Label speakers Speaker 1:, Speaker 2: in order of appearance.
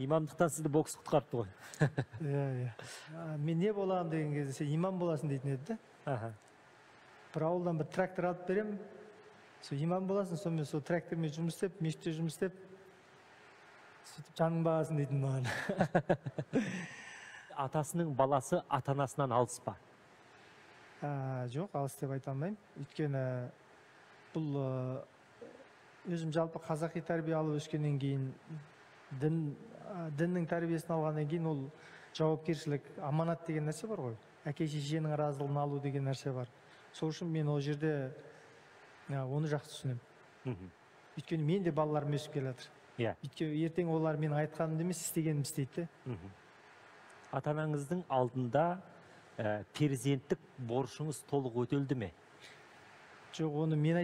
Speaker 1: Имамдықтан сізді бокс құтқарды ғой.
Speaker 2: Мен не боламын деген кезде сен имам боласың дейтін еді. Бір ауылдан бір трактор алып берем, сол имам боласың, сонымен сол трактормен жұмыс істеп, мешітте жұмыс істеп, сөйтіп жаның бағасың дейтін маған.
Speaker 1: Атасының баласы ата-анасынан алыс па?
Speaker 2: Жоқ, алыс деп айта алмаймын. Өйткені бұл өзім жалпы қазақи тәрбие алып өскеннен кейін, діннің тәрбиесін алғаннан кейін ол жауапкершілік, аманат деген нәрсе бар ғой. Әке шешенің разылығын алу деген нәрсе бар. Сол үшін мен ол жерде оны жақсы түсінемін. Өйткені мен де балаларым өсіп келе жатыр. Өйткені ертең олар менің айтқанымды емес, істегенімді істейді.
Speaker 1: Ата-анаңыздың алдында перзенттік борышыңыз толық өтелді ме?
Speaker 2: Жоқ, оны мен